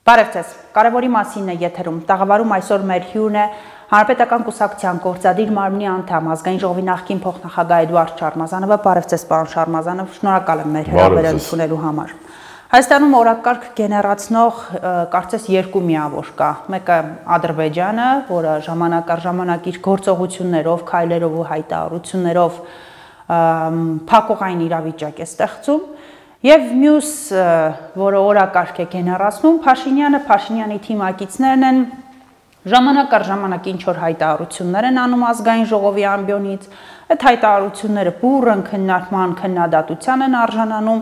Բարև ձեզ, կարևորի մասին է եթերում, տաղավարում այսօր մեր հյուրն է Հանրապետական կուսակցության գործադիր մարմնի անդամ ազգային ժողովի նախկին փոխնախագահ Էդուարդ Շարմազանովը, բարև ձեզ պարոն Շարմազանով, շնորհակալ եմ մեր հրավերը ընդունելու համար։ Հայաստանում օրակարգ գեներացնող կարծես երկու միավոր կա, մեկը Ադրբեջանը, որը ժամանակ առ ժամանակ իր գործողություններով, քայլերով ու հայտարարություններով փակողային իրավիճակ է ստեղծում, եւ մյուս, որը օրակարգ է գեներացնում, Փաշինյանի թիմակիցներն են ժամանակ առ ժամանակ ինչ-որ հայտարարություններ են անում ազգային ժողովի ամբիոնից, այդ հայտարարությունները բուռն քննարկման, քննադատության են արժանանում,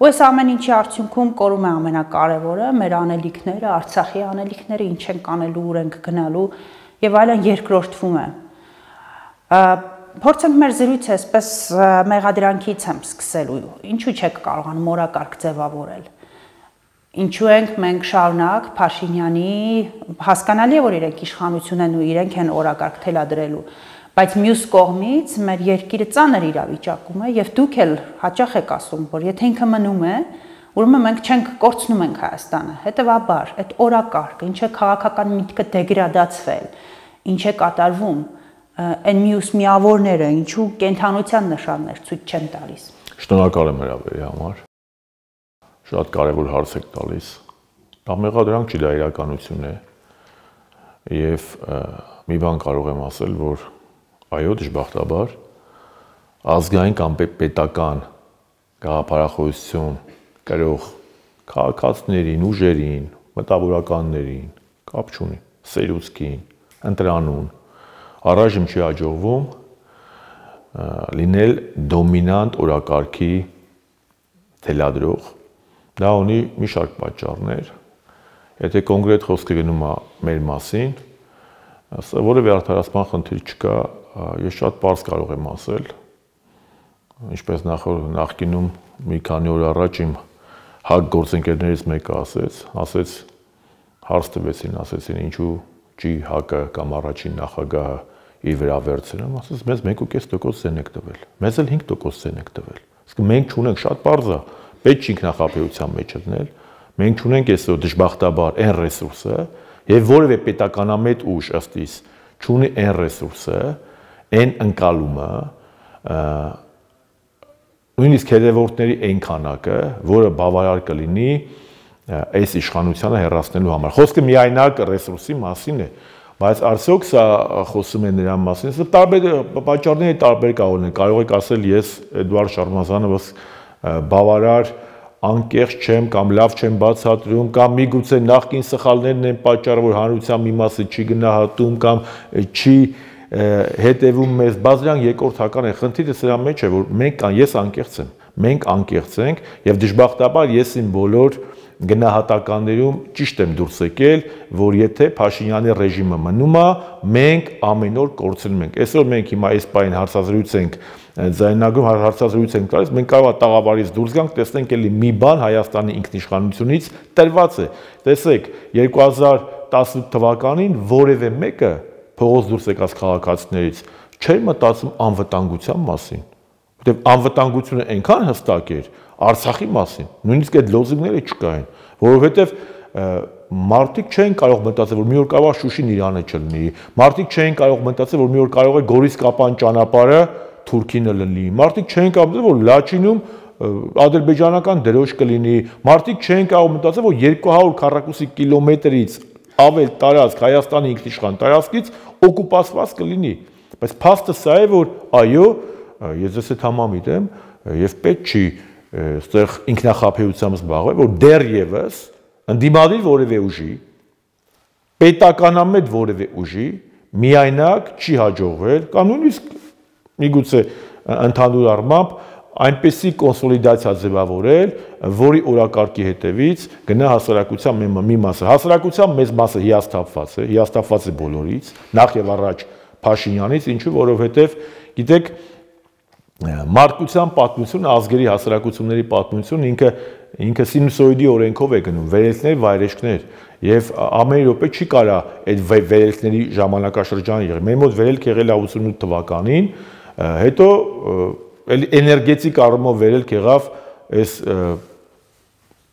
ու այս ամեն ինչի արդյունքում կորում է ամենակարևորը, մեր անելիքները, Արցախի անելիքները, ինչ ենք անելու, ուր ենք գնալու եւ այլն երկրորդվում է։ Փորձենք մեր զրույցը այսպես մեղադրանքից եմ սկսելու, ինչու չեք կարողանում օրակարգ ձևավորել, ինչու ենք մենք շարունակ Փաշինյանի, հասկանալի է, որ իրենք իշխանություն են ու իրենք են օրակարգ թելադրելու, բայց մյուս կողմից մեր երկիրը ծանր իրավիճակում է եւ դուք էլ հաճախ եք ասում, որ եթե ինքը մնում է, ուրեմն մենք չենք կորցնում ենք Հայաստանը, հետեւաբար այդ օրակարգը, ինչ է քաղաքական միտքը դեգրադացվել, ինչ է կատարվում, այն մյուս միավորները, ինչու կենթանության նշաններ ցույց չեն տալիս։ Շնորհակալ եմ հրավերի համար։ Շատ կարևոր հարց եք տալիս։ Դա մեղադրանք չի, դա իրականություն է։ Եվ մի բան կարող եմ ասել, որ այո, դժբախտաբար ազգային կամ պետական գաղափարախոսություն կրող քաղաքացիներին, ուժերին, մտավորականներին, կապ չունի, սերուցքին, ընտրանուն առայժմ չի հաջողվում լինել դոմինանտ օրակարգի թելադրող, դա ունի մի շարք պատճառներ, եթե կոնկրետ խոսքը գնում է մեր մասին, որևէ արդարացման խնդիր չկա, ես շատ պարզ կարող եմ ասել, ինչպես նախկինում մի քանի օր առաջ իմ հակ գործընկերներից մեկը ասեց, հարց տվեցին, ասեցին ինչու չի հակը կամ առաջին նախագահը իր վրա վերցնում, ասես մեզ 1.5% ձեն եք տվել, մեզ էլ 5% ձեն եք տվել, իսկ մենք չունենք, շատ պարզ է, պետք չի ինքնախապեյության մեջ դնել, մենք չունենք այսօր դժբախտաբար այն ռեսուրսը եւ որևէ պետականամետ ուժ ըստ իս չունի այն ռեսուրսը, այն ընկալումը, նույնիսկ հետևորդների այն քանակը, որը բավարար կլինի այս իշխանությանը հեռացնելու համար։ Խոսքը միայնակ ռեսուրսի մասին է, բայց արդյոք սա խոսում է նրա մասին, սա տարբեր պատճառների տարբեր կարող եք ասել ես Էդուարդ Շարմազանովս բավարար անկեղծ չեմ կամ լավ չեմ բացատրում կամ միգուցե նախկին սխալներն են պատճառը, որ հանրության մի մասը չի գնահատում կամ չի հետևում մեզ, բայց դրանք երկրորդական են, խնդիրը սրա մեջ է, որ ես անկեղծ եմ, մենք անկեղծ ենք եւ դժբախտաբար ես իմ բոլոր գնահատականներում ճիշտ եմ դուրս եկել, որ եթե Փաշինյանի ռեժիմը մնում է, մենք ամեն օր կորցնում ենք։ Այսօր մենք հիմա այս պահին հարցազրույց ենք ձայնագրում, հարցազրույց ենք տալիս, մենք կարող է տաղավարից դուրս գանք, տեսնենք էլի մի բան Հայաստանի ինքնիշխանությունից տրված է։ Տեսեք, 2018 թվականին որևէ մեկը փողոց դուրս եկած քաղաքացիներից չէր մտածում անվտանգության մասին, որտեղ անվտանգությունը այնքան հստակ էր Արցախի մասին, նույնիսկ այդ լոզունգները չկային, որովհետև մարդիկ չէին կարող մտածել, որ մի օր կարող է Շուշին Իրանը չլինի, մարդիկ չէին կարող մտածել, որ մի օր կարող է Գորիս-Կապան ճանապարհը Թուրքինը լինի, մարդիկ չէին կարող մտածել, որ Լաչինում ադրբեջանական դրոշ կլինի, մարդիկ չէին կարող մտածել, որ 200 քառակուսի կիլոմետրից ավել տարածք Հայաստանի ինքնիշխան տարածքից օկուպացված կլինի, բայց փաստը սա է, որ այո, ես ես հետ համամիտ եմ եւ պետք չի այստեղ ինքնախապեյությամբ զբաղվել, որ դեռևս ընդդիմադիր որևէ ուժի, պետականամետ որևէ ուժի միայնակ չի հաջողվել կամ նույնիսկ միգուցե ընդհանուր առմամբ այնպեսի կոնսոլիդացիա ձևավորել, որի օրակարգի հետևից գնա հասարակության մի մասը։ Հասարակության մեծ մասը հիասթափված է բոլորից, նախ եւ առաջ Փաշինյանից, ինչու, որովհետեւ գիտեք, մարդկության պատմությունը, ազգերի հասարակությունների պատմությունը ինքը սինուսոիդի օրենքով է գնում, վերելքներ, վայրեջքներ, եւ ամեն րոպե չի կարա այդ վերելքների ժամանակաշրջան եղել։ Մեր մոտ վերելք եղել է 88 թվականին, հետո էներգետիկ առումով վերելք եղավ այս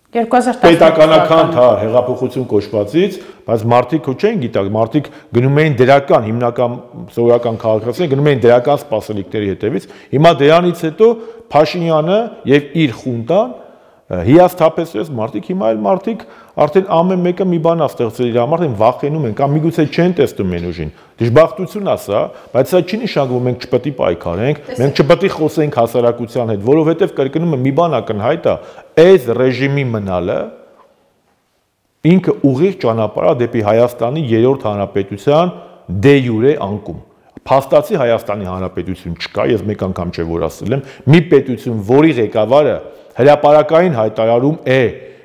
պետականական հեղափոխություն կոչվածից, բայց մարդիկ ու չեն գիտակ, մարդիկ գնում էին դրական, հիմնական սովորական քաղաքացիները գնում էին դրական սպասելիքների հետևից։ Հիմա դրանից հետո Փաշինյանը եւ իր խունտան հիասթափեցրեց մարդիկ, հիմա այլ մարդիկ արդեն ամեն մեկը մի բան է ստեղծել իր համար, վախենում են կամ միգուցե չեն տեսնում են ուժին։ Դժբախտություն է սա, բայց սա չի նշանակում մենք չպետք է պայքարենք, մենք չպետք է խոսենք հասարակության հետ, որովհետև կրկնում եմ մի բան ակնհայտ է, այս ռեժիմի մնալը ինքը ուղիղ ճանապարհ է դեպի Հայաստանի երրորդ հանրապետության դե յուրե անկում։ Փաստացի Հայաստանի հանրապետություն չկա, ես մեկ անգամ չէ որ ասել եմ, մի պետություն, որի ղեկավարը հրապարակային հայտարարում է,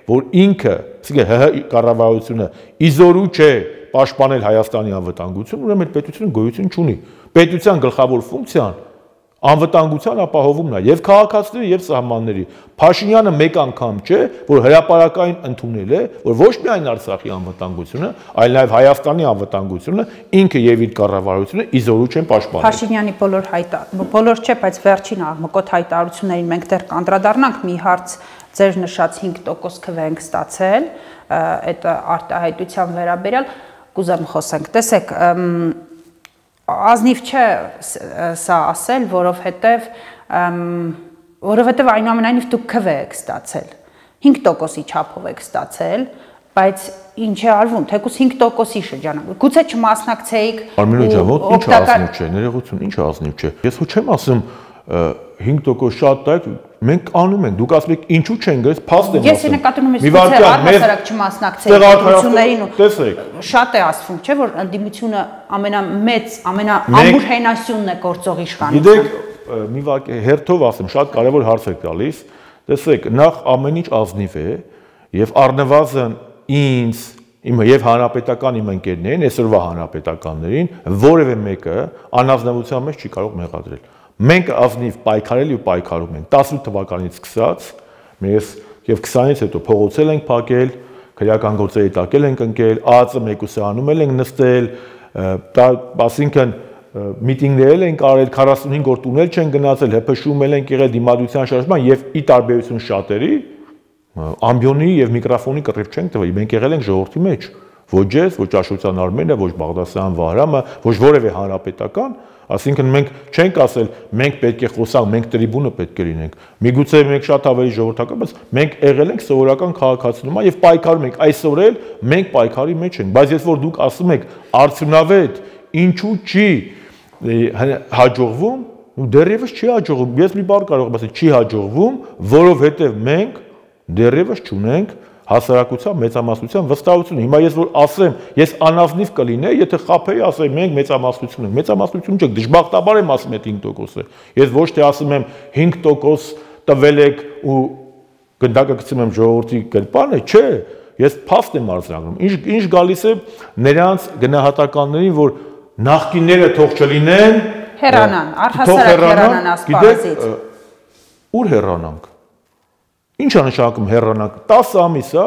որ ինքը, ՀՀ կառավարությունը իզորու չէ պաշտպանել Հայաստանի անվտանգությունը, ուրեմն այդ պետությունը գոյություն չունի։ Պետության գլխավոր ֆունկցիան անվտանգության ապահովումն է եւ քաղաքացիների եւ սահմանների։ Փաշինյանը մեկ անգամ չէ, որ հրապարակային ընդունել է, որ ոչ միայն Արցախի անվտանգությունը, այլ նաեւ Հայաստանի անվտանգությունը ինքը եւ իր կառավարությունը իզորու չեն պաշտպանել։ Փաշինյանի բոլոր չէ, բայց վերջին աղմկոտ հայտարարություններին մենք դեռ կանդրադառնանք մի հարց ձեր նշած 5% քվ ենք ստացել, այդ արտահայտության վերաբերյալ կուզեմ խոսենք։ Տեսեք, ազնիվ չէ սա ասել, որովհետև այնուամենայնիվ դուք քվ եք ստացել, 5%-ի չափով եք ստացել, բայց ինչ է արվում, թեկուզ 5%-ի շրջանում, գուցե չմասնակցեիք Արմենո ջան, ինչ ազնիվ չէ, ներողություն, ինչ ազնիվ չէ։ Ես ու չեմ ասում 5% շատ տակ, մենք անում ենք, դուք ասում եք ինչու չեն գալիս, փաստ եմ ասում։ Ես նկատում եմ գուցե առհասարակ չմասնակցեիք ընտրություններին ու շատ է ասվում, չէ՞ որ ընդդիմությունը ամենամեծ, ամենաամուր հենասյունն է գործող իշխանությունը։ Գիտեք, մի վարք հերթով ասեմ, շատ կարևոր հարց եք տալիս։ Տեսեք, նախ ամեն ինչ ազնիվ է եւ առնվազն ինձ եւ հանրապետական իմ ընկերներին, այսօրվա հանրապետականներին որևէ մեկը անազնվության մեջ չի կարող մեղադրել։ Մենք ազնիվ պայքարել ու պայքարում ենք 18 թվականից սկսած, մենք եւ 20-ից հետո փողոցել ենք փակել, քրեական գործերի տակել ենք ընկել, ԱԱԾ մեկուսանում ենք նստել, ասինքն միտինգներ ենք արել, 45 օր տունել չեն գնացել, ՀՓՇ-ում ենք եղել դիմադրության շարժման եւ ի տարբերություն շատերի ամբիոնի եւ միկրոֆոնի կռիվ չենք տվել, մենք եղել ենք ժողովրդի մեջ, ոչ ես, ոչ Աշոտյան Արմենը, ոչ Բաղդասարյան Վահրամը, ոչ որևէ հանրապետական, ասինքն մենք չենք ասել մենք պետք է խոսանք, մենք տրիբունը պետք է լինենք։ Միգուցե մենք շատ ավելի ժողովրդական, բայց մենք եղել ենք սովորական քաղաքացիներ եւ պայքարում ենք, այսօր էլ մենք պայքարի մեջ ենք, բայց ես որ դուք ասում եք արդյունավետ, ինչու չի հաջողվում, դեռևս չի հաջողվում։ Ես մի բառ կարող եմ ասել, չի հաջողվում, որովհետեւ մենք դեռևս չունենք հասարակության մեծամասնության վստահություն։ Հիմա ես որ ասեմ, ես անազնիվ կլինեի, եթե խափեի ասեի մենք մեծամասնություն ենք։ Մեծամասնություն չեք, դժբախտաբար եմ ասում այդ 5%-ը։ Ես ոչ թե ասում եմ 5% տվել եք ու գնդակը գցում եմ ժողովրդի գրպանը, չէ, ես փաստ եմ արձանագրում։ Ինչ գալիս է նրանց գնահատականներին, որ նախկինները թող չլինեն, հեռանան, առհասարակ հեռանան ասպարեզից։ Ուր հեռանանք։ Ինչ է նշանակում հեռանանք։ 10 ամիս է,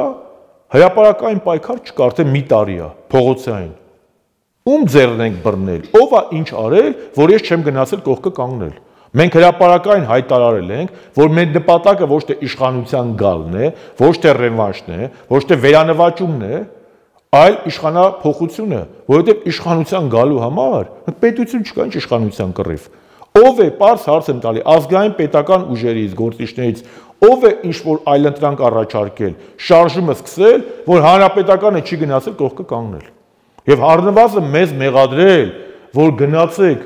հրապարակային պայքար չկա, արդեն մի տարի է, փողոցային։ Ում ձեռն ենք բռնել, ով է ինչ արել, որ ես չեմ գնացել կողքը կանգնել։ Մենք հրապարակային հայտարարել ենք, որ մեր նպատակը ոչ թե իշխանության գալն է, ոչ թե ռևանշն է, ոչ թե վերանվաճումն է, այլ իշխանափոխությունը, որովհետև իշխանության գալու համար պետություն չկա, ինչ իշխանության կռիվ։ Ով է, պարզ հարց եմ տալի, ազգային պետական ուժերից, գործիչներից, ով է ինչ-որ այլընտրանք առաջարկել, շարժումը սկսել, որ հանրապետականը չի գնացել կողքը կանգնել։ Եվ առնվազն մեզ մեղադրել, որ գնացեք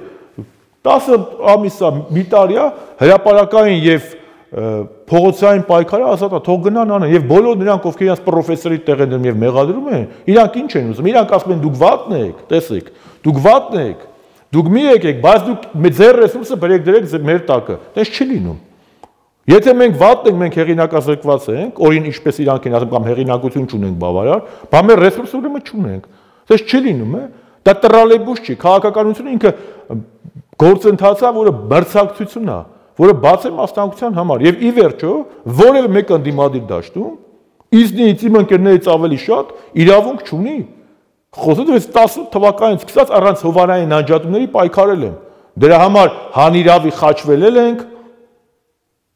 10 ամիսա մի տարիա հրապարակային եւ փողոցային պայքարը ազատ է, թող գնան անեն եւ բոլոր նրանք, ովքեր իրաց պրոֆեսորի տեղ են դնում եւ մեղադրում են, իրանք ինչ են ուզում, իրանք ասում են դուք վատն եք, տեսեք, դուք վատն եք, դուք մի եկեք, բայց դուք ձեր ռեսուրսը բերեք դրեք մեր տակը, դες չի լինում։ Եթե մենք վատն ենք, մենք հեղինակազրկված ենք, օրին ինչպես իրանք են ասում, կամ հեղինակություն չունենք բավարար, բա մեր ռեսուրսը ուրեմն չունենք։ Դες չի լինում, է։ Դա տրալեյբուս չի, քաղաքականությունը ինքը գործընթաց է, որը բրցակցություն է, որը բաց է մասնակցության համար, եւ ի վերջո որևէ մեկ ընդդիմադիր դաշտում իզնից իմ ընկերներից ավելի շատ իրավունք չունի։ Խոսում եմ 18 թվականից սկսած առանց հովանային անջատումների պայքարել եմ։ Դրա համար հանիրավի խաչվելել ենք։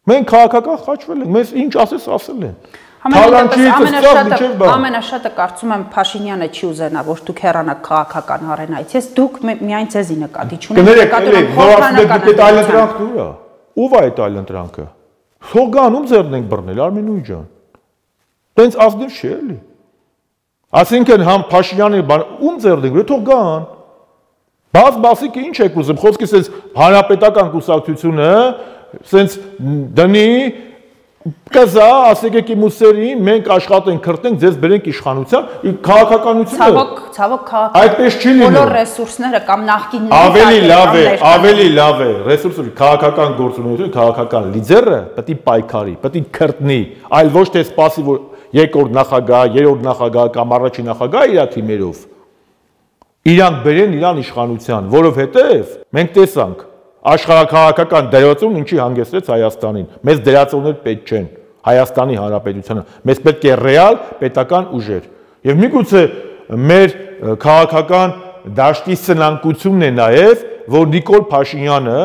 Մենք քաղաքական խաչվել ենք, մեզ ինչ ասես ասել են։ Ամենաշատը կարծում եմ Փաշինյանը չի ուզենա, որ դուք հեռանաք քաղաքական արենայից։ Ես դուք միայն ցեզի նկատի չունեք, Ո՞վ է այդ այլընտրանքը։ Թող գան ում ձեռն ենք բռնել, Արմենուհի ջան։ Տենց ազնիվ չի էլի։ Այսինքն համ Փաշինյանի ում ձեռն ենք, թող գան։ Բաց-բասիկը ինչ եք ուզում, խոսքի սենց հանրապետական կուսակցությունը սենց դնի կզա, ասեք եկի մուսերին, մենք աշխատենք, քրտնենք, ձեզ բերենք իշխանության, քաղաքականությունը ցավոք այդպես չի լինում։ Բոլոր ռեսուրսները կամ նախկինների ավելի լավ է, ռեսուրսը քաղաքական գործունեությունը, քաղաքական լիդերը պետք է պայքարի, պետք է քրտնի, այլ ոչ թե սպասի, որ երկրորդ նախագահ, երրորդ նախագահ կամ առաջին նախագահ իր թիմերով իրանք բերեն իրան իշխանության, որովհետև մենք տեսանք աշխարհաքաղաքական դերացում ինչի հանգեցրեց Հայաստանին։ Մեզ դերացողներ պետք չեն Հայաստանի Հանրապետությանը։ Մեզ պետք է ռեալ պետական ուժեր։ Եվ միգուցե մեր քաղաքական դաշտի սնանկությունն է նաև, որ Նիկոլ Փաշինյանը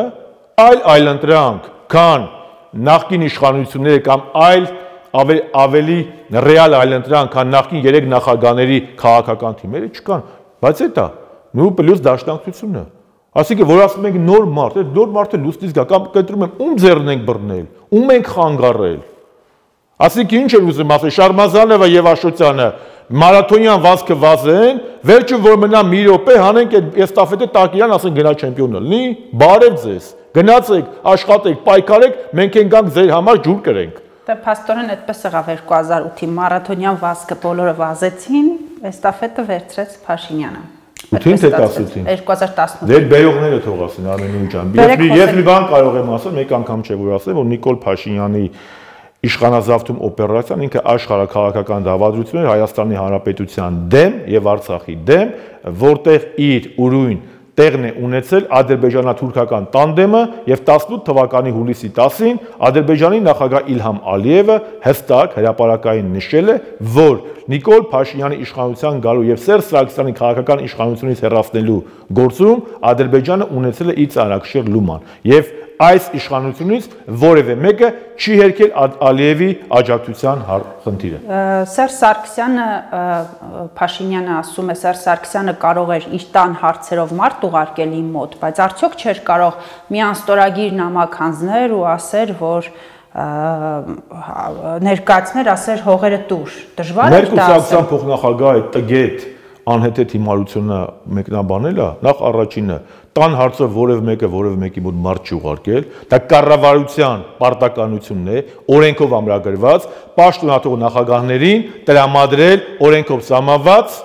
այլընտրանք, քան նախկին իշխանությունները կամ ավելի ռեալ այլընտրանք, քան նախկին 3 նախագահների քաղաքական թիմերը չկան, բայց դա նույն պլյուս դաշնակցությունը։ Այսինքն որ ասում ենք նոր մարդ, այդ նոր մարդը լուսնից գա կամ կընտրում եմ ում ձեռն ենք բռնել, ում ենք խանգարել։ Այսինքն ինչ են ուզում ասել Շարմազանովը եւ Աշոտյանը մարաթոնյան վազքը վազեն, վերջը որ մնա մի րոպե հանենք այդ էստաֆետը տակ իրան ասեն գնա չեմպիոն լինի, բարև ձեզ։ Գնացեք, աշխատեք, պայքարեք, մենք ենք գանք ձեր համար ջուր կրենք։ Դե փաստորեն այդպես եղավ 2008-ի մարաթոնյան վազքը բոլորը վազեցին, էստաֆետը վերցրեց Փաշինյանը։ 2018-ին։ Դեր բերողները թող ասեն Արմենուհի ջան։ Ես մի բան կարող եմ ասել, մեկ անգամ չէ որ ասեմ, որ Նիկոլ Փաշինյանի իշխանազավթում օպերացիան ինքը աշխարհաքաղաքական դավադրություն էր Հայաստանի Հանրապետության դեմ եւ Արցախի դեմ, որտեղ իր ուրույն տեղն է ունեցել ադրբեջանա-թուրքական տանդեմը եւ 18 թվականի հուլիսի 10-ին Ադրբեջանի նախագահ Իլհամ Ալիևը հստակ հրապարակային նշել է, որ Նիկոլ Փաշինյանի իշխանության գալու եւ Սերժ Սարգսյանի քաղաքական իշխանությունից հեռացնելու գործում Ադրբեջանը ունեցել է իր ծանրակշիռ լուման եւ այս իշխանությունից որևէ մեկը չի հերքել Ալիևի աջակցության խնդիրը։ Սերժ Սարգսյանը Փաշինյանը ասում է Սերժ Սարգսյանը կարող էր իր տան հարցերով մարդ ուղարկել իմ մոտ, բայց արդյոք չէր կարող մի անստորագիր նամակ հանձնել ու ասեր, որ ներկայացներ ասեր հողերը տուր։ Դժվար է դա։ Մեր կուսակցության փոխնախագահ այդ տգետ անհեթեթ հիմարությունը մեկնաբանել է, նախ առաջինը տան հարցը որևէ մեկի մոտ մարդ չի ուղարկել, դա կառավարության պարտականությունն է, օրենքով ամրագրված, պաշտոնաթող նախագահներին տրամադրել օրենքով սահմանված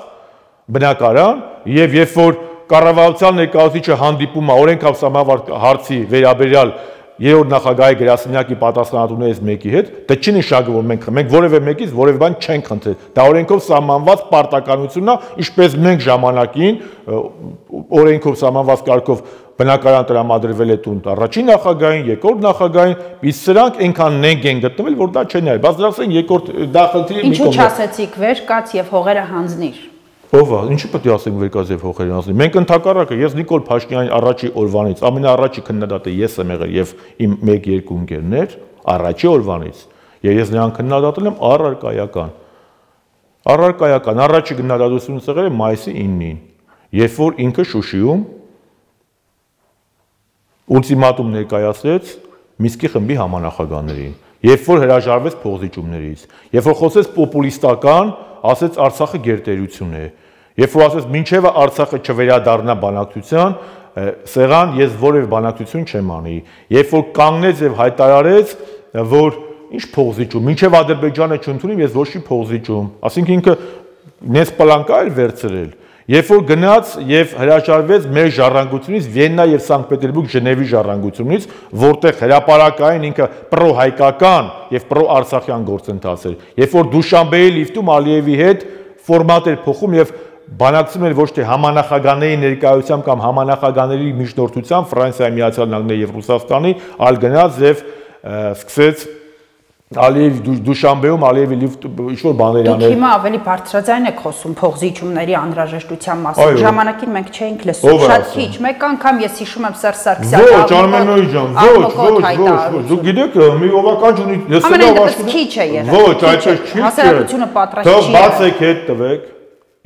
բնակարան եւ երբ որ կառավարության ներկայացուցիչը հանդիպում է օրենքով սահմանված հարցի վերաբերյալ երրորդ նախագահի գրասենյակի պատասխանատուներից մեկի հետ, դա չի նշանակում, որ մենք որևէ մեկից որևէ բան չենք խնդրել։ Դա օրենքով սահմանված պարտականությունն է, ինչպես մենք ժամանակին օրենքով սահմանված կարգով բնակարան տրամադրվել է տուն առաջին նախագահին, երկրորդ նախագահին, իսկ սրանք այնքան նենք են գտնվել, որ դա չեն արել։ Բայց դրանց երկրորդ դա խնդիրը մի կողմ է։ Ինչու չասեցիք վեր կաց եւ հողերը հանձնիր։ Ով է, ինչի պետք է ասենք վերկաց եւ հողերը հանձնի։ Մենք ընդհակառակը ես Նիկոլ Փաշինյանի առաջի օրվանից ամենաառաջի քննադատը ես եմ եղել եւ իմ 1-2 ընկերներ առաջի օրվանից։ Եվ ես նրան քննադատել եմ առարկայական։ Առաջի քննադատությունից եղել է մայիսի 9-ին, երբ որ ինքը Շուշիում ուլտիմատում ներկայացրեց Միսկի խմբի համանախագահներին, երբ որ հրաժարվեց փողզիջումներից, երբ որ խոսեց պոպուլիստական, ասեց Արցախը գերտերություն է, երբ որ ասեց մինչև Արցախը չվերադառնա բանակցության, սեղան ես որևէ բանակցություն չեմ անի, երբ որ կանգնեց եւ հայտարարեց, որ ինչ փողզիջում, մինչև Ադրբեջանը չընդունի, ես ոչ մի փողզիջում, ասինքն ինքը նես պլանկա էր վերցրել, երբ որ գնաց եւ հրաժարվեց մեր ժառանգությունից Վիեննա եւ Սանկտ Պետերբուրգ Ժնևի ժառանգությունից, որտեղ հրապարակային ինքը պրո-հայկական եւ պրո-արցախյան գործընթաց էր, երբ որ Դուշանբեի լիֆտում Ալիևի հետ ֆորմատ էր փոխում եւ բանակցում էր ոչ թե համանախագահների ներկայությամբ կամ համանախագահների միջնորդությամբ Ֆրանսիայի, Միացյալ Նահանգների եւ Ռուսաստանի, այլ գնաց եւ սկսեց Ալիև Դուշանբեում Ալիևի ինչ-որ բաներ անել։ Դուք հիմա ավելի բարձրաձայն եք խոսում փողզիջումների անհրաժեշտության մասին։ Ժամանակին մենք չէինք լսում, շատ քիչ։ Մեկ անգամ ես հիշում եմ Սերժ Սարգսյանը։ Ոչ, Արմենոյ ջան, ոչ։ Դուք գիտեք, մի ովական ունի, լսելով աշխարհը քիչ է եղել։ Ոչ, այդպես չի։ Հասարակությունը պատրաստ չի։ Թող բացեք հետ տվեք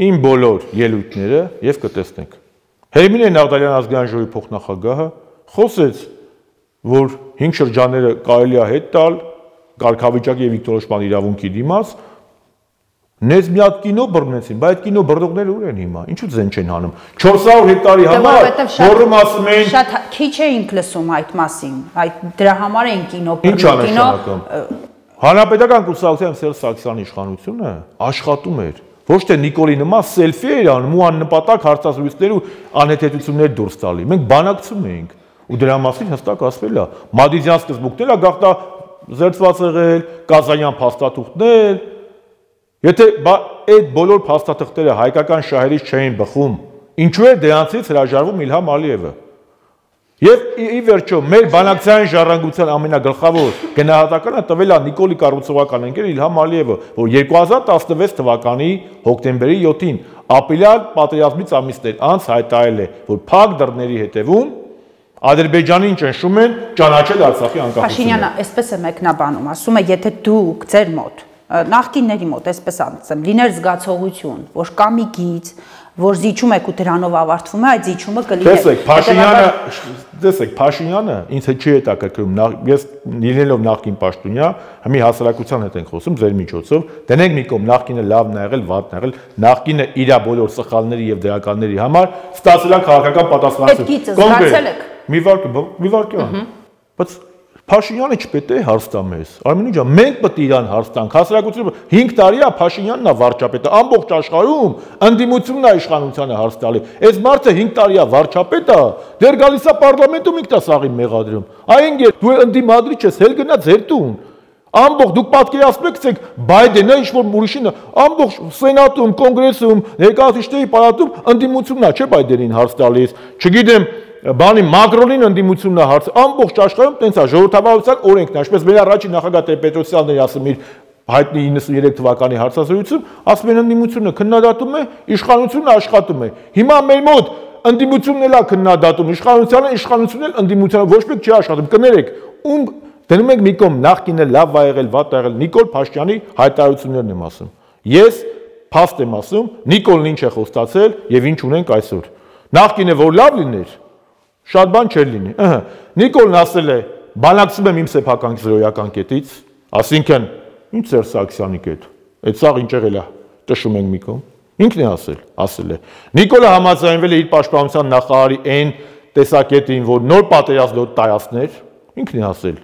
իմ բոլոր ելույթները եւ կտեսնեք։ Հերմինե Նաղդալյան ազգային ժողովի փոխնախագահը խոսեց, որ 5 շրջանները կարելի է հետ տալ կարգավիճակի եւ ինքնորոշման իրավունքի դիմաց, նեզ մի հատ կինո բռնեցին, բայց այդ կինո բռնողները ուր են հիմա, ինչու ձեն չեն հանում, 400 հեկտարի համար, որում ասում էին, շատ քիչ էինք լսում այդ մասին, այդ դրա համար էին կինո բռնում, ինչ անշանակում, Հանրապետական կուսակցության Սերժ Սարգսյանի իշխանությունը աշխատում էր, ոչ թե Նիկոլի նման սելֆի էր անում ու աննպատակ հարցազրույցներ ու անհեթեթություններ դուրս տալի, մենք բանակցում էինք ու դրա մասին հստակ ասվել է, Մադիզյան սկզբունքները գաղտա զերծված եղել, Կազանյան փաստաթուղթներ, եթե այդ բոլոր փաստաթղթերը հայկական շահերից չէին բխում, ինչու է դրանցից հրաժարվում Իլհամ Ալիևը։ Եվ ի վերջո մեր բանակցային ժառանգության ամենագլխավոր գնահատականը տվել է Նիկոլի կառուցողական ընկեր Իլհամ Ալիևը, որ 2016 թվականի հոկտեմբերի 7-ին ապրիլյան պատերազմից ամիսներ անց հայտարարել է, որ փակ դռների հետևում Ադրբեջանին ճնշում են ճանաչել Արցախի անկախությունը։ Փաշինյանը այսպես է մեկնաբանում, ասում է, եթե դուք ձեր մոտ, նախկինների մոտ, այսպես ասեմ, լիներ զգացողություն, որ կա մի գիծ, որ զիջում եք ու դրանով ավարտվում է, այդ զիջումը կլիներ։ Տեսեք, Փաշինյանը ինձ հետ չի հետաքրքրում, ես լինելով նախկին պաշտոնյա, հիմի հասարակության հետ ենք խոսում ձեր միջոցով, դնենք մի կողմ նախկինը լավն է եղել, վատն է եղել, նախկինը իր բոլոր սխալների եւ դրականների համար ստացել է քաղաքական պատասխանատվություն։ Մի վարքյան, բայց Փաշինյանը չպետք է հարց տա մեզ, Արմենի ջան, մենք պետք է իրան հարց տանք, հասարակությունը 5 տարի է Փաշինյանն է վարչապետը, ամբողջ աշխարհում ընդդիմությունն է իշխանությանը հարց տալի, այս մարդը 5 տարի է վարչապետը, դեռ գալիս է պարլամենտում ինքն է սաղին մեղադրում, այն դու ընդդիմադրիչ ես, հել գնա ձեր տուն, ամբողջ դուք պատկերացնում եք Բայդենը ինչ-որ ուրիշինը, ամբողջ սենատում, կոնգրեսում, ներկայացուցիչների պալատում ընդդիմությունն է, չէ՞ Բայդենին հարց տալիս, չգիտեմ Բանի Մակրոնին ընդդիմությունն է հարց, ամբողջ աշխարհում տենց է ժողովրդավարության օրենքն է, ինչպես մեր առաջին նախագահ Տեր-Պետրոսյանն էր ասում իր հայտնի 93 թվականի հարցազրույցում, ասում են ընդդիմությունը քննադատում է, իշխանությունը աշխատում է։ Հիմա մեր մոտ ընդդիմությունն էլ է քննադատում, իշխանությունն էլ ընդդիմությանը ոչ մեկ չի աշխատում։ Կներեք, ում դնում եք մի կողմ նախկինը լավ ա եղել, վատ ա եղել, Նիկոլ Փաշինյանի հայտարարություններն եմ ասում։ Ես փաստ եմ ասում, Նիկոլն ինչ է խոստացել եւ ինչ ունենք այսօր։ Նախկինը որ լավ լիներ, շատ բան չէր լինի։ Նիկոլն ասել է, բանակցում եմ իմ սեփական զրոյական կետից, ասինքն ինչ Սերժ Սարգսյանի կետ։ Այդ սաղ ինչ եղել է, տշում ենք մի կողմ։ Ինքն է ասել է։ Նիկոլը համաձայնվել է իր պաշտպանության նախարարի այն տեսակետին, որ նոր պատերազմ տայացներ, ինքն է ասել։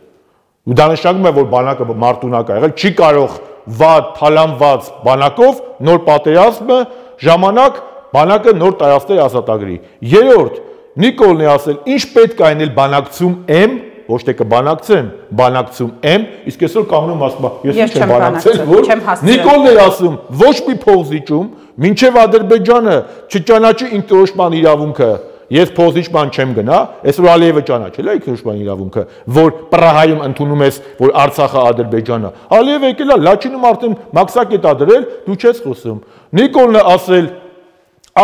Ու դա նշանակում է, որ բանակը մարտունակ է եղել, չի կարող վատ, թալանված բանակով նոր պատերազմը ժամանակ բանակը նոր տայացներ ազատագրի։ Երրորդ Նիկոլն է ասել, ինչ պետք է այնել բանակցում եմ, ոչ թե կբանակցեմ, բանակցում եմ, իսկ այսօր կանգնում ասում, ես չեմ բանակցել, որ Նիկոլն է ասում, ոչ մի փողզիջում, մինչև Ադրբեջանը չճանաչի ինքնորոշման իրավունքը, ես փողզիջման չեմ գնա, այսօր Ալիևը ճանաչել է ինքնորոշման իրավունքը, որ Պրահայում ընդունում ես, որ Արցախը Ադրբեջանը։ Ալիևը եկել է Լաչինում արդեն մաքսակետ ա դրել, դու չես խոսում։ Նիկոլն է ասել,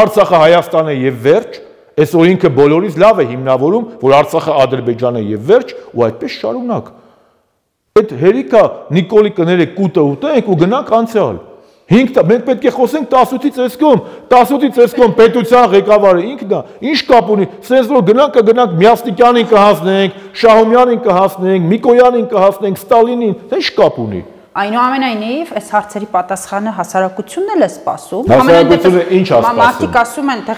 Արցախը Հայաստանը եւ վերջ, այսօր ինքը բոլորից լավ է հիմնավորում, որ Արցախը Ադրբեջանը եւ վերջ, ու այդպես շարունակ։ Այդ հերիքա Նիկոլի կներեք կուտը ուտենք ու գնանք անցյալ։ 5 մենք պետք է խոսենք 18-ից այսքոմ, 18-ից այսքոմ պետության ղեկավարը ինքն է, ինչ կապ ունի, սենց որ գնանք Միաստիկյանին կհասնենք, Շահումյանին կհասնենք, Միկոյանին կհասնենք, Ստալինին, դա ինչ կապ ունի։ Այնուամենայնիվ, այս հարցերի պատասխանը հասարակությունն էլ է սպասում։ Հասարակությունը ինչ է սպասում։ Մարդիկ ասում են, թե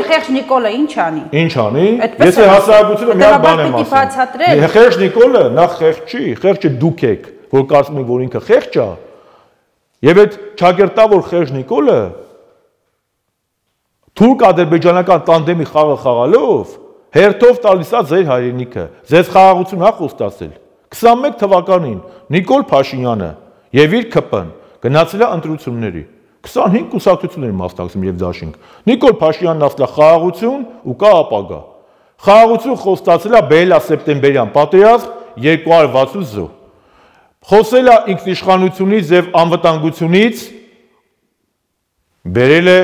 խեղճ Նիկոլը ինչ անի։ Ինչ անի։ Ես հասարակությունը մի հատ բան եմ ասում։ Խեղճ Նիկոլը նախ խեղճ չի, խեղճը դուք եք, որ կարծում եք, որ ինքը խեղճ է։ Եվ այդ ճակերտավոր խեղճ Նիկոլը թուրք-ադրբեջանական տանդեմի խաղը խաղալով հերթով տալիս է ձեր հայրենիքը։ Ձեզ խաղաղություն ա խոստացել։ 21 թվականին Նիկոլ Փաշինյանը եւ իր ԿՊ-ն գնացել է ընտրությունների 25 կուսակցությունների մասնակցում եւ դաշինք Նիկոլ Փաշինյանն ասել է խաղաղություն ու կա ապագա խաղաղություն խոստացել է բերել է սեպտեմբերյան պատերազմ 260 զոհ խոսել է ինքնիշխանությունից եւ անվտանգությունից, բերել է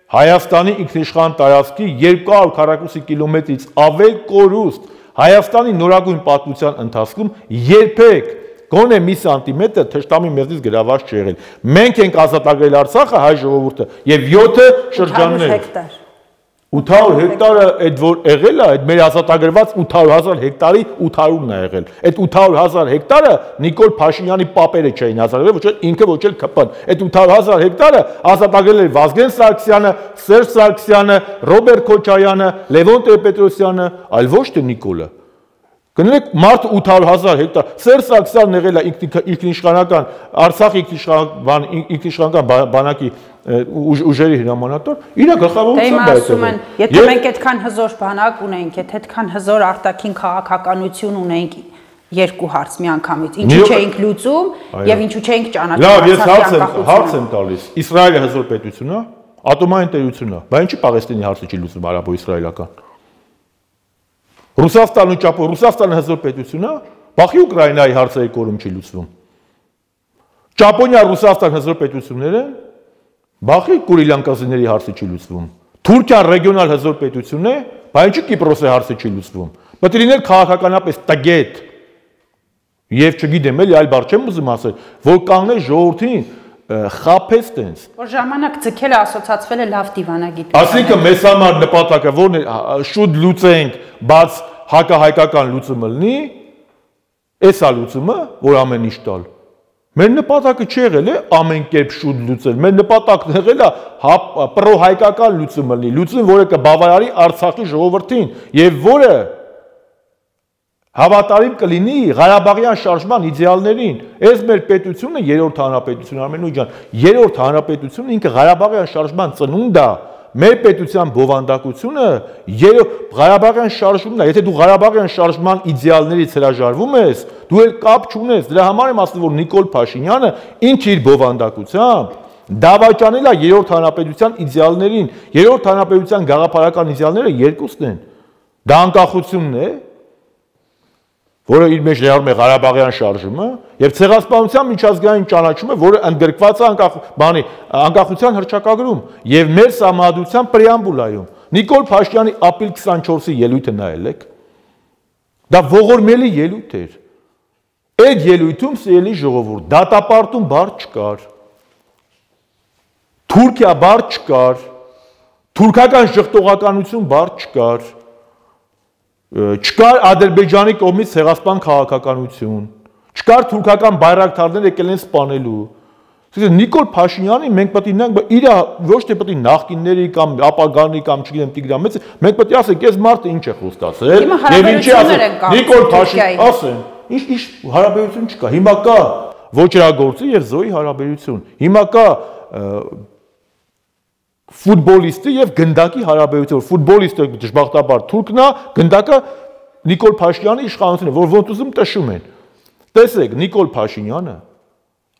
Հայաստանի ինքնիշխան տարածքի 200 քառակուսի կիլոմետրից ավել կորուստ Հայաստանի նորագույն պատմության ընթացքում երբեք գոնե մի սանտիմետր թշնամի մեզնից գրաված չի եղել։ Մենք ենք ազատագրել Արցախը, հայ ժողովուրդը, եւ 7 շրջաններ։ 800 հեկտարը այդ որ եղել է, այդ մեր ազատագրված 800,000 հեկտարի 800-ն է եղել։ Այդ 800,000 հեկտարը Նիկոլ Փաշինյանի պապերը չէին ազատագրել, ոչ էլ ինքը, ոչ էլ ԿՊ-ն։ Այդ 800,000 հեկտարը ազատագրել էր Վազգեն Սարգսյանը, Սերժ Սարգսյանը, Ռոբերտ Քոչարյանը, Լևոն Տեր-Պետրոսյանը, այլ ոչ թե Նիկոլը։ Կներեք, մարդ 800,000 հեկտար, Սերժ Սարգսյանն եղել է ինքնիշխանական, Արցախի ինքնիշխանական բանակի ուժերի հրամանատար, իր գլխավորությամբ է եղել։ Եթե մենք այդքան հզոր բանակ ունենք, եթե այդքան հզոր արտաքին քաղաքականություն ունենք, երկու հարց միանգամից, ինչու չէինք լուծում եւ ինչու չէինք ճանաչում Արցախի անկախությունը։ Հարց եմ տալիս, Իսրայելը հզոր պետություն է, ատոմային տերություն է, բայց ինչի Պաղեստինի հարցը չի լուծում արաբո-իսրայելական։ Ռուսաստանը հզոր պետություն է, բախի Ուկրաինայի հարցերի կորում չի լուծվում։ Ճապոնիա, Ռուսաստան հզոր պետություններ են, բախի Կուրիլյան կղզիների հարցը չի լուծվում։ Թուրքիան ռեգիոնալ հզոր պետություն է, բայց ինչի Կիպրոսի հարցը չի լուծվում։ Պետք է լինել քաղաքականապես տգետ։ Եվ չգիտեմ, էլի այլ բառ չեմ ուզում ասել, որ կանգնես ժողովրդին խափես տենց։ Որ ժամանակ ձգելը ասոցացվել է լավ դիվանագիտության։ Այսինքն մեզ համար նպատակը որն է, շուտ լուծենք, բաց հակահայկական լուծումը լինի, էս է լուծումը, որ ամեն ինչ տալ։ Մեր նպատակը չի եղել է ամեն կերպ շուտ լուծել, մեր նպատակն եղել է պրոհայկական լուծումը լինի, լուծում, որը կբավարարի Արցախի ժողովրդին եւ որը հավատարիմ կլինի Ղարաբաղյան շարժման իդեալներին։ Այս մեր պետությունը երրորդ հանրապետություն Արմենուի ջան, երրորդ հանրապետությունը ինքը Ղարաբաղյան շարժման ծնունդ է։ Մեր պետության բովանդակությունը Ղարաբաղյան շարժումն է։ Եթե դու Ղարաբաղյան շարժման իդեալներից հրաժարվում ես, դու էլ կապ չունես։ Դրա համար եմ ասում, որ Նիկոլ Փաշինյանը ինքը իր բովանդակությամբ դավաճանել է երրորդ հանրապետության իդեալներին։ Երրորդ հանրապետության գաղափարական իդեալները երկուսն են։ Դա անկախությունն է, որը իր մեջ ներառում է Ղարաբաղյան շարժումը, եւ ցեղասպանության միջազգային ճանաչումը, որը ընդգրկված է անկախության հռչակագրում եւ մեր սահմանադրության պրեամբուլայում։ Նիկոլ Փաշինյանի ապրիլ 24-ի ելույթը նայել եք։ Դա ողորմելի ելույթ էր։ Այդ ելույթում սիրելի ժողովուրդ, դատապարտում բառ չկար։ Թուրքիա բառ չկար, թուրքական շղթողականություն բառ չկար։ Չկար Ադրբեջանի կողմից ցեղասպան քաղաքականություն, չկար թուրքական բայրակթարներ եկել են սպանելու։ Նիկոլ Փաշինյանի մենք պետք է նայենք, իր ոչ թե պետք է նախկինների կամ ապագանի կամ չգիտեմ Տիգրան Մեծի, մենք պետք է ասենք, այս մարդը ինչ է խոստացել, եւ ինչի ասել Նիկոլ Փաշինյան, ասեն, ինչ հարաբերություն չկա։ Հիմա կա ոչրագործի եւ Զոյի հարաբերություն։ Հիմա կա ֆուտբոլիստի եւ գնդակի հարաբերություն, ֆուտբոլիստը դժբախտաբար թուրքն է, գնդակը Նիկոլ Փաշինյանի իշխանությունն է, որ ոնց ուզում տշում են։ Տեսեք, Նիկոլ Փաշինյանը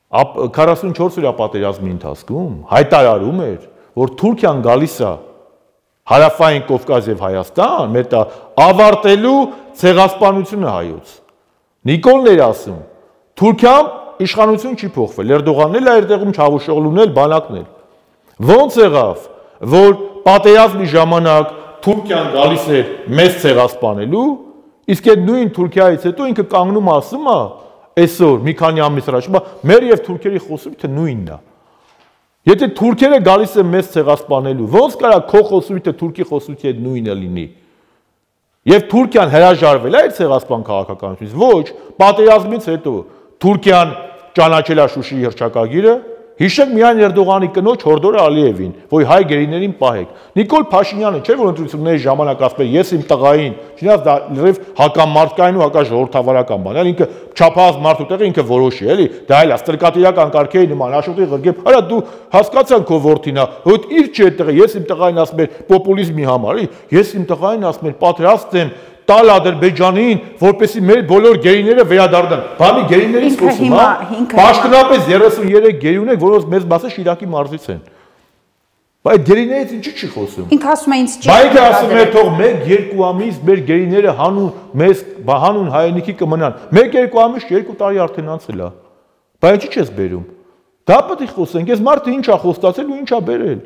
44 օրյա պատերազմի ընթացքում հայտարարում էր, որ Թուրքիան գալիս է Հարավային Կովկաս եւ Հայաստան, մեր ավարտելու ցեղասպանությունը հայոց։ Նիկոլն էր ասում, Թուրքիան իշխանություն չի փոխվել, Էրդողանն էլ է այդտեղում Չավուշօղլուն էլ բանակն էլ։ Ոնց եղավ, որ պատերազմի ժամանակ Թուրքիան գալիս էր մեզ ցեղասպանելու, իսկ այդ նույն Թուրքիայից հետո ինքը կանգնում ասում է, այսօր մի քանի ամիս առաջ, մեր եւ թուրքերի խոսույթը նույնն է։ Եթե թուրքերը գալիս են մեզ ցեղասպանելու, ոնց կարա քո խոսույթը թուրքի խոսույթի հետ նույնը լինի։ Եվ Թուրքիան հրաժարվել է այդ ցեղասպան քաղաքականությունից, ոչ, պատերազմից հետո Թուրքիան ճանաչել է Շուշիի հռչակագիրը, հիշեք միայն Էրդողանի կնոջ Հորդոր Ալիևին, որ հայ գերիներին պահեք։ Նիկոլ Փաշինյանը չէ, որ ընտրությունների ժամանակ ասում է, ես իմ տղային, չնայած դա լրիվ հակամարտկային ու հակաժողովրդավարական բան է, ինքը չափահաս մարդու տեղը ինքը որոշի, էլի, դա էլ է ստրկատիրական կարգերի նման, աշոտի ղրգեմ, արա դու հասկացան քո որդին է, որ իր չէ այդտեղը, ես իմ տղային ասում եմ պոպուլիզմի համար, ես իմ տղային ասում եմ պատրաստ եմ տալ Ադրբեջանին, որպեսզի մեր բոլոր գերիները վերադառնան։ Բանի գերիներից խոսում, հա։ Պաշտոնապես 33 գերի ունենք, որոնց մեծ մասը Շիրակի մարզից են։ Բայց գերիներից ինչի՞ չի խոսում։ Ինքը ասում է ինձ չի։ Բայց ինքը ասում է թող 1-2 ամիս մեր գերիները հանուն մեզ հանուն հայրենիքի կմնան։ 1-2 ամիս 2 տարի արդեն անցել է։ Բայց ինչի՞ չես բերում։ Դա պետք է խոսենք, այս մարդը ինչ է խոստացել ու ինչ է բերել։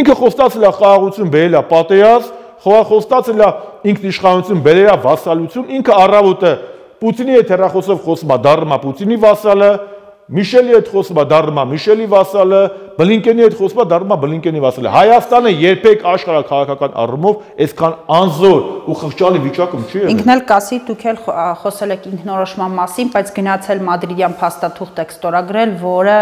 Ինքը խոստացել է խաղաղություն, բերել է պատերազմ, խոստացել է ինքնիշխանություն, բերել է վասալություն, ինքը առավոտը Պուտինի հետ հեռախոսով խոսում է, դառնում է Պուտինի վասալը, Միշելի հետ խոսում է, դառնում է Միշելի վասալը, Բլինկենի հետ խոսում է, դառնում է Բլինկենի վասալը։ Հայաստանը երբեք աշխարհաքաղաքական առումով այսքան անզոր ու խղճալի վիճակում չի եղել։ Ինքն էլ կասի, դուք էլ խոսել եք ինքնորոշման մասին, բայց գնացել մադրիդյան փաստաթուղթ եք ստորագրել, որը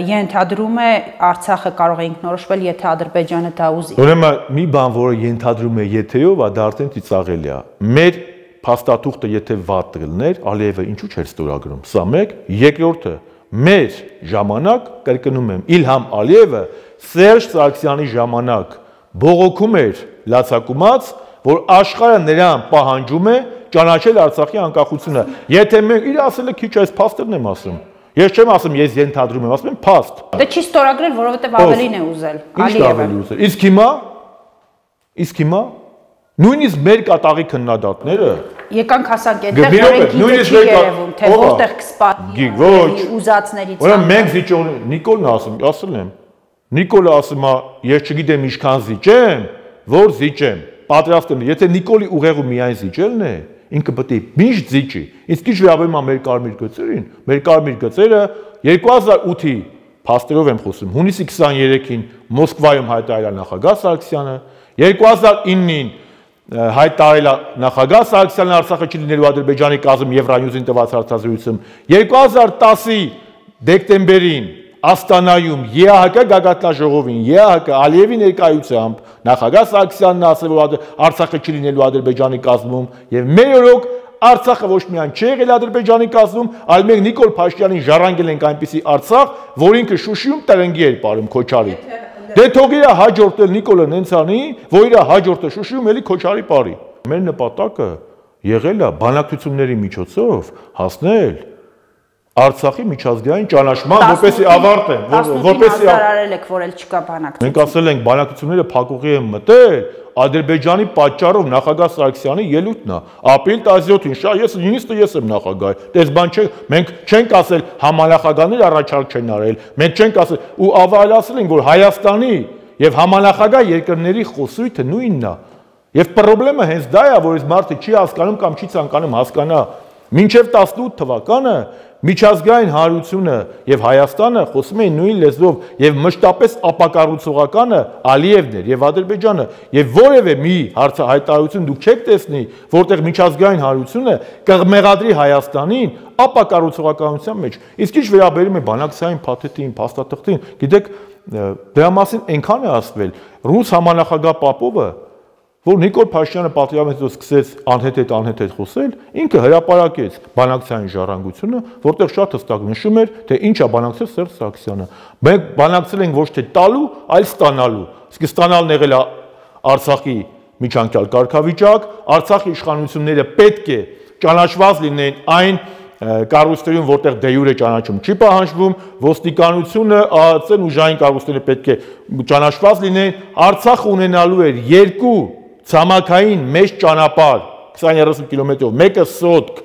ենթադրում է Արցախը կարող է ինքնորոշվել, եթե Ադրբեջանը դա ուզի։ Ուրեմն մի բան, որը ենթադրում է եթեով, դա արդեն ծիծաղելի է։ Մեր փաստաթուղթը եթե վատ կլներ, Ալիևը ինչու՞ չէր ստորագրում։ Սա մեկ, երկրորդը մեր ժամանակ, կրկնում եմ, Իլհամ Ալիևը Սերժ Սարգսյանի ժամանակ բողոքում էր լացակումած, որ աշխարհը նրան պահանջում է ճանաչել Արցախի անկախությունը։ Եթե մենք իր ասել է քիչ այս փաստերն եմ ասում։ Ես չեմ ասում, ես ենթադրում եմ, ասում եմ փաստ։ Դե չի ստորագրել, որովհետև ավելին է ուզել Ալիևը։ Իսկ հիմա նույնիսկ մեր կատաղի քննադատները եկանք հասանք այդտեղ, որոնք չի երևում, թե որտեղ կսպանի ուզածներից։ Ուրեմն մենք զիջող Նիկոլն ասել եմ։ Նիկոլը ասում է, ես չգիտեմ ինչքան զիջեմ, որ զիջեմ։ Պատրաստ եմ, եթե Նիկոլի ուղեղը միայն զիջելն է, ինքը պետք է միշտ զիջի։ Իսկ ինչ վերաբերում է մեր կարմիր գծերին, մեր կարմիր գծերը 2008-ի փաստերով եմ խոսում, հունիսի 23-ին Մոսկվայում հայտարարել է նախագահ Սարգսյանը, 2009-ին հայտարարել է նախագահ Սարգսյանը Արցախը չլինելու Ադրբեջանի կազմում Եվրանյուզին տված հարցազրույցում, 2010-ի դեկտեմբերին Աստանայում ԵԱՀԿ գագաթնաժողովին ԵԱՀԿ Ալիևի ներկայությամբ նախագահ Սարգսյանն ասել, որ Արցախը չլինելու Ադրբեջանի կազմում եւ մեր օրոք Արցախը ոչ միայն չի եղել Ադրբեջանի կազմում, այլ մենք Նիկոլ Փաշինյանին ժառանգել ենք այնպիսի Արցախ, որ ինքը Շուշիում տրնգի էր ապարում Քոչարի։ Դե թող իր հաջորդել Նիկոլը նենց անի, որ իր հաջորդը Շուշիում էլի Քոչարի ապարի։ Մեր նպատակը եղել է բանակցությունների միջոցով հասնել Արցախի միջազգային ճանաչման, որպեսզի ավարտեն, որպեսզի հայտարարել եք, որ էլ չկա բանակցություն։ Մենք ասել ենք բանակցությունները փակուղի են մտել, Ադրբեջանի պատճառով նախագահ Սարգսյանի ելույթն է։ Ապրիլ 17-ին, ես եմ նախագահ։ Դες բան չէ, մենք չենք ասել համանախագահներ առաջարկ չեն արել։ Մենք չենք ասել ու ավելացել ենք, որ Հայաստանի եւ համանախագահ երկրների խոսույթը նույնն է։ Եվ խնդրեմը հենց դա է, որ այս մարդը չի հասկանում կամ չի ցանկանում հասկանա։ Մինչև 18 թվականը միջազգային հանրությունը եւ Հայաստանը խոսում էին նույն լեզվով եւ մշտապես ապակառուցողականը Ալիևն էր եւ Ադրբեջանը եւ որևէ մի հայտարարություն դուք չեք տեսնի, որտեղ միջազգային հանրությունը կմեղադրի Հայաստանին ապակառուցողականության մեջ։ Իսկ ինչ վերաբերում է բանակցային փաթեթին, փաստաթղթին, գիտեք, դրա մասին այնքան է ասվել, ռուս համանախագահ Պապովը, որ Նիկոլ Փաշինյանը պատերազմից սկսեց անհետ խոսել, ինքը հրապարակեց բանակցային ժառանգությունը, որտեղ շատ հստակ նշում էր, թե ինչ է բանակցել Սերժ Սարգսյանը։ Մենք բանակցել ենք ոչ թե տալու, այլ ստանալու։ Իսկ ստանալն եղել է Արցախի միջանկյալ կարգավիճակ, Արցախի իշխանությունները պետք է ճանաչված լինեն այն կառույցներում, որտեղ դե յուրե ճանաչում չի պահանջվում, ոստիկանությունը, ԱԱՑ-ն ուժային կառույցները պետք է ճանաչված լինեն, Արցախը ունենալու էր երկու ցամաքային մեծ ճանապարհ 20-30 կիլոմետրով, մեկը Սոտք,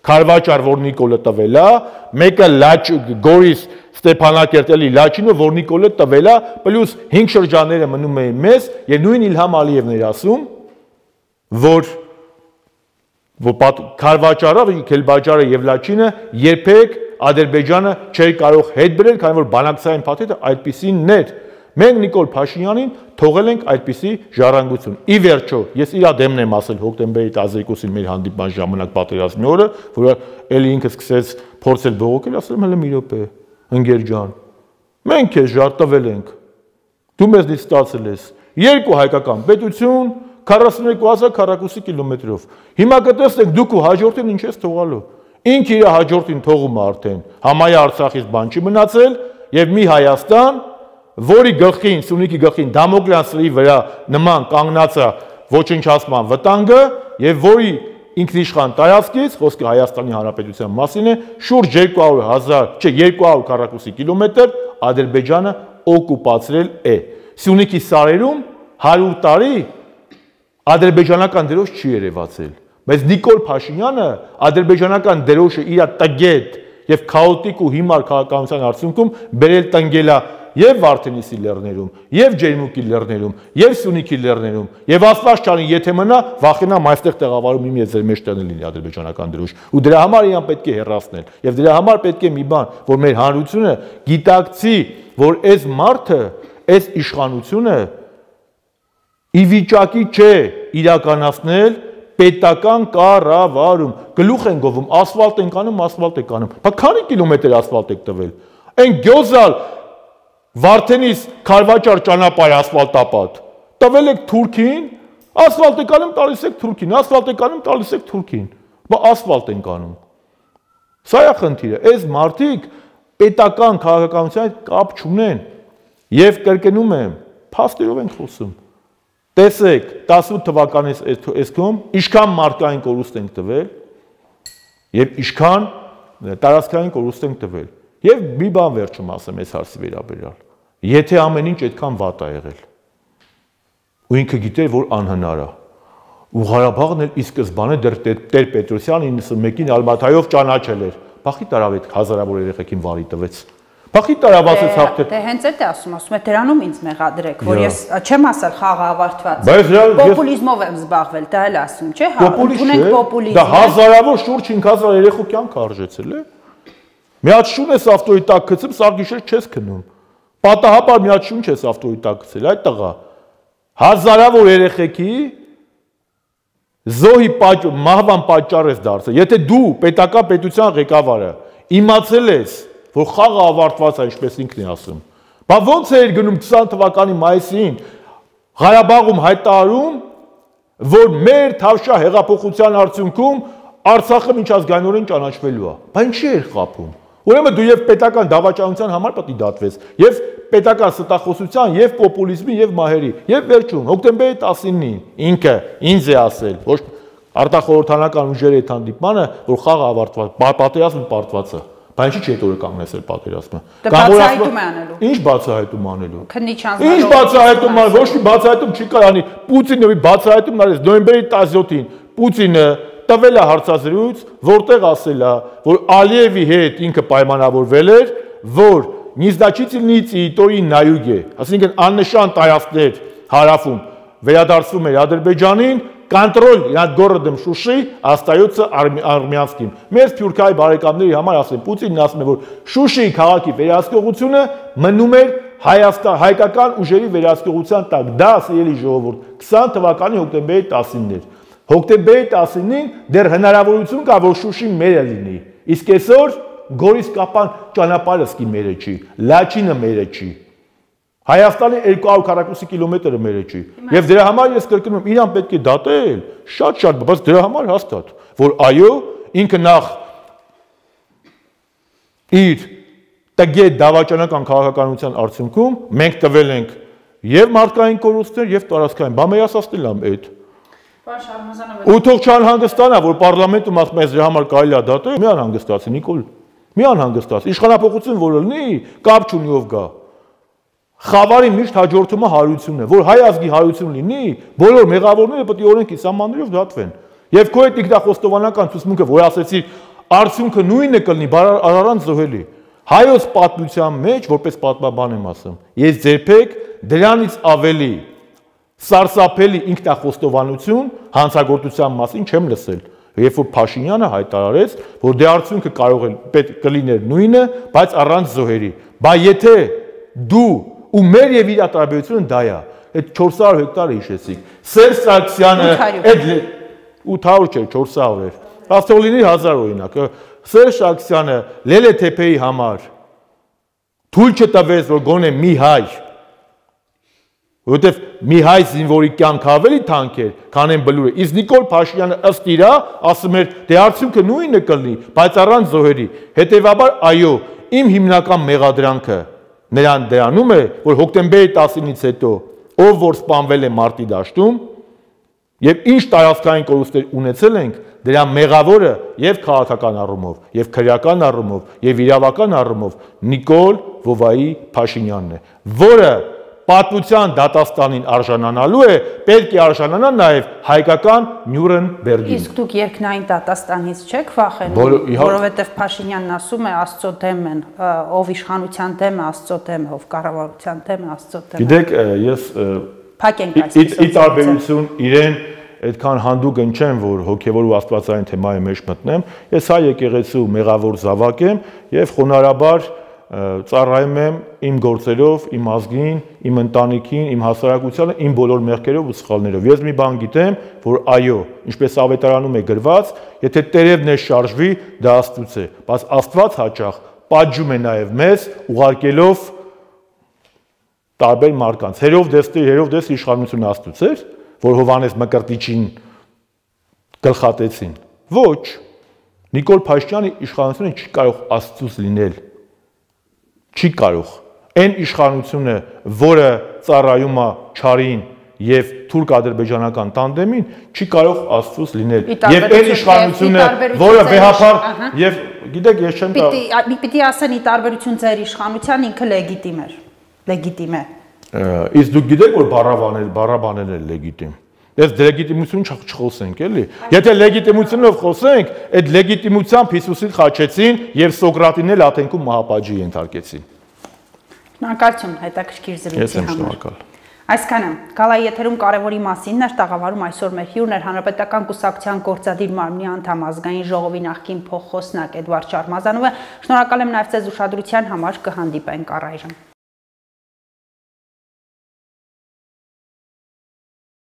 Քարվաճար, որ Նիկոլը տվել է, մեկը Լաչ Գորիս Ստեփանակերտելի Լաչինը, որ Նիկոլը տվել է, պլյուս 5 շրջանները մնում էին մեզ, եւ նույն Իլհամ Ալիևն էր ասում, որ Քարվաճարը, Քելբաջարը եւ Լաչինը երբեք Ադրբեջանը չէր կարող հետ բերել, քանի որ բանակցային փաթեթը այդպիսին էր։ Մենք Նիկոլ Փաշինյանին թողել ենք այդպիսի ժառանգություն։ Ի վերջո, ես իր դեմն եմ ասել հոկտեմբերի 12-ին մեր հանդիպման ժամանակ պատերազմի օրը, որ էլի ինքը սկսեց փորձել բողոքել, ասել եմ հələ մի րոպե, ընկեր ջան։ Մենք քեզ ժարտվել ենք։ Դու մեզնից ստացել ես երկու հայկական պետություն 42,000 քառակուսի կիլոմետրով։ Հիմա կտեսնեք դուք ու հաջորդին ինչ ես թողալու։ Ինքը իր հաջորդին թողում է արդեն։ Համայա Արցախից բան չի մնացել եւ մի Հայաստան, որի գլխին, Սյունիքի գլխին Դամոկլեսի վրա նման կանգնած է ոչնչացման վտանգը եւ որի ինքնիշխան տարածքից, խոսքը Հայաստանի Հանրապետության մասին է, շուրջ 200 քառակուսի կիլոմետր Ադրբեջանը օկուպացրել է։ Սյունիքի սարերում 100 տարի ադրբեջանական դրոշ չի երևացել։ Բայց Նիկոլ Փաշինյանը ադրբեջանական դրոշը իր տգետ եւ քաոտիկ ու հիմար քաղաքականության արդյունքում բերել տնկելա եւ Վարդենիսի լեռներում, եւ Ջերմուկի լեռներում, եւ Սյունիքի լեռներում, եւ Աստված չանի, եթե մնա, վախենամ այստեղ տեղավորում իմ եւ ձեր մեջ տանը լինի ադրբեջանական դրոշ։ Ու դրա համար իրան պետք է հեռացնել։ Եվ դրա համար պետք է մի բան, որ մեր հանրությունը գիտակցի, որ այս մարդը, այս իշխանությունը ի վիճակի չէ իրականացնել պետական կառավարում։ Գլուխ են գովում, ասֆալտ են կանում, ասֆալտ է կանում։ Բա քանի կիլոմետր ասֆալտ եք տվել։ Այն գյոզալ Վարդենիս Քարվաճար ճանապարհ ասֆալտապատ։ Տվել եք Թուրքին, ասֆալտ է կանում, տալիս եք Թուրքին, ասֆալտ է կանում, տալիս եք Թուրքին։ Բա ասֆալտ են կանում։ Սա է խնդիրը։ Այս մարդիկ պետական քաղաքականության հետ կապ չունեն։ Եվ կրկնում եմ, փաստերով ենք խոսում։ Տեսեք, 18 թվականից այսքան ինչքան մարդկային կորուստ ենք տվել եւ ինչքան տարածքային կորուստ ենք տվել։ Եվ մի բան վերջում ասեմ այս հարցի վերաբերյալ։ Եթե ամեն ինչ այդքան վատ է եղել, ու ինքը գիտեր, որ անհնար է, ու Ղարաբաղն էլ ի սկզբանե դեռ Տեր Պետրոսյան 91-ին Ալմաթայով ճանաչել էր, բախի տարավ այդ հազարավոր երեխեքին վարի տվեց։ Բախի տարավ ասեց հաղթեր։ Դե հենց այդ է ասում է դրանում ինձ մեղադրեք, որ ես չեմ ասել խաղը ավարտված։ Պոպուլիզմով եմ զբաղվել, դա էլ ասում, չէ՞, ընդունենք պոպուլիզմը։ Դա հազարավոր շուրջ 5000 երեխու կյանք արժեցել է։ Մի հատ շուն ես ավտոյի տակ գցում, սաղ գիշեր չես քնում։ Պատահաբար մի հատ շուն չես ավտոյի տակ գցել, այդ տղա։ Հազարավոր երեխեքի զոհի մահվան պատճառ ես դարձել։ Եթե դու պետական պետության ղեկավարը իմացել ես, որ խաղը ավարտված է, ինչպես ինքն է ասում, բա ո՞նց էր գնում 20 թվականի մայիսին Ղարաբաղում հայտարարում, որ մեր Թավշյա հեղափոխության արդյունքում Արցախը միջազգայինորեն ճանաչվելու է։ Բա ինչի էր խաբում։ Ուրեմն դու եւ պետական դավաճանության համար պետք է դատվես, եւ պետական ստախոսության, եւ պոպուլիզմի, եւ մահերի, եւ վերջում հոկտեմբերի 19-ին ինքը ինձ է ասել, ոչ արտախորհրդանական ուժերի հետ հանդիպմանը, որ խաղը ավարտված, պատերազմը պարտված է։ Բա ինչի՞ չի այդ օրը կանգնեցել պատերազմը։ Բացահայտում է անելու։ Ինչ բացահայտում անելու։ Քննիչ անձնարարող։ Ինչ բացահայտում ան, ոչ մի բացահայտում չի կարանի։ Պուտինը բացահայտում արեց նոյեմբերի 17-ին։ Պուտինը տվել է հարցազրույց, որտեղ ասել է, որ Ալիևի հետ ինքը պայմանավորվել էր, որ Նիզդաչիցիլնի տերիտորիի նայուկ է, այսինքն աննշան տարածքներ հարավում վերադարձվում էր Ադրբեջանին, կոնտրոլ nad городом Շուշի остается армянским։ Մեր Թուրքիայի բարեկամների համար ասեմ, Պուտինն ասում է, որ Շուշիի քաղաքի վերահսկողությունը մնում էր հայկական ուժերի վերահսկողության տակ։ Դա սիրելի ժողովուրդ 20 թվականի հոկտեմբերի 19-ն էր։ Հոկտեմբերի 19-ին դեռ հնարավորություն կա, որ Շուշին մերը լինի։ Իսկ այսօր Գորիս-Կապան ճանապարհը սկի մերը չի, Լաչինը մերը չի։ Հայաստանի 242 կիլոմետրը մերը չի։ Եվ դրա համար ես կրկնում եմ, իրան պետք է դատել, շատ, բայց դրա համար հաստատ, որ այո, ինքը նախ իր տգետ դավաճանական քաղաքականության արդյունքում մենք տվել ենք եւ մարդկային կորուստներ եւ տարածքային։ Բա մեր ասածն եմ այդ։ Ու թող չանհանգստանա, որ պարլամենտում ասում ես դրա համար կարելի է դատել, մի անհանգստացի Նիկոլ, մի անհանգստացի։ Իշխանապողություն որ լինի, կապ չունի ով գա։ Խավարի միշտ հաջորդումը հարությունն է, որ հայ ազգի հարություն լինի, բոլոր մեղավորները պետք է օրենքի սահմաններով դատվեն։ Եվ քո այդ ինքնախոստովանական ցուցմունքը, որ ասեցի, արդյունքը նույնը կլինի, առանց զոհելի։ Հայոց պատմության մեջ, որպես պատմաբան եմ ասում, ես ձերբեք դրանից ավելի սարսափելի ինքնախոստովանություն հանցագործության մասին չեմ լսել։ Երբ որ Փաշինյանը հայտարարեց, որ դե արդյունքը կարող է պետք կլիներ նույնը, բայց առանց զոհերի։ Բա եթե դու ու մեր եւ իր տարբերությունը դա է։ Այդ 400 հեկտարը հիշեցիք։ Սերժ Սարգսյանը այդ 800 չէ, 400 էր։ Ասող լինի 1000 օրինակ։ Սերժ Սարգսյանը Լելեթեփեի համար թույլ չտվեց, որ գոնե մի հայ, որովհետև մի հայ զինվորի կյանքը ավելի թանկ էր, քան այն բլուրը։ Իսկ Նիկոլ Փաշինյանը ըստ իրա ասում էր, դե արդյունքը նույնը կլինի, բայց առանց զոհերի։ Հետևաբար, այո, իմ հիմնական մեղադրանքը նրան դրանում է, որ հոկտեմբերի 19-ից հետո ով որ սպանվել է մարտի դաշտում եւ ինչ տարածքային կորուստներ ունեցել ենք, դրա մեղավորը եւ քաղաքական առումով, եւ քրեական առումով, եւ իրավական առումով Նիկոլ Վովայի Փաշինյանն է, որը պատմության դատաստանին արժանանալու է, պետք է արժանանա նաև հայկական Նյուրնբերգին։ Իսկ դուք երկնային դատաստանից չեք վախենում, որովհետև Փաշինյանն ասում է Աստծո դեմ են, ով իշխանության դեմ է, Աստծո դեմ է, ով կառավարության դեմ է, Աստծո դեմ է։ Գիտեք, ես ի տարբերություն իրեն այդքան հանդուգն չեմ, որ հոգևոր ու աստվածային թեմայի մեջ մտնեմ, ես հայ եկեղեցու մեղավոր զավակ եմ եւ խոնարհաբար ծառայում եմ իմ գործերով, իմ ազգին, իմ ընտանիքին, իմ հասարակությանը, իմ բոլոր մեղքերով ու սխալներով։ Ես մի բան գիտեմ, որ այո, ինչպես ավետարանում է գրված, եթե տերևն է շարժվի, դա Աստծուց է, բայց Աստված հաճախ պատժում է նաև մեզ, ուղարկելով տարբեր մարդկանց։ Հերովդես իշխանությունը Աստծուց էր, որ Հովհաննես Մկրտիչին գլխատեցին։ Ոչ, Նիկոլ Փաշինյանի իշխանությունը չի կարող Աստծուց լինել։ Չի կարող։ Այն իշխանությունը, որը ծառայում է Չարին եւ թուրք-ադրբեջանական տանդեմին, չի կարող Աստծուց լինել։ Եվ այն իշխանությունը, որը վեհապար եւ գիտեք, ես չեմ կարող։ Պիտի ասեն ի տարբերություն ձեր իշխանության ինքը լեգիտիմ էր։ Լեգիտիմ է։ Իսկ դուք գիտեք, որ բառաբաներն են լեգիտիմ։ Դες լեգիտիմություն չխոսենք, էլի։ Եթե լեգիտիմությունով խոսենք, այդ լեգիտիմությամբ Հիսուսին խաչեցին եւ Սոկրատին էլ Աթենքում մահապատժի ենթարկեցին։ Շնորհակալություն հետաքրքիր զրույցի համար։ Այսքանը գալայի եթերում կարևորի մասին էր տաղավարում այսօր մեր հյուրն էր Հանրապետական կուսակցության գործադիր մարմնի անդամ ազգային ժողովի նախկին փոխխոսնակ Էդվարդ Շարմազանովը։ Շնորհակալ եմ նաեւ ձեզ ուշադրության համար, կհանդիպենք առայժմ։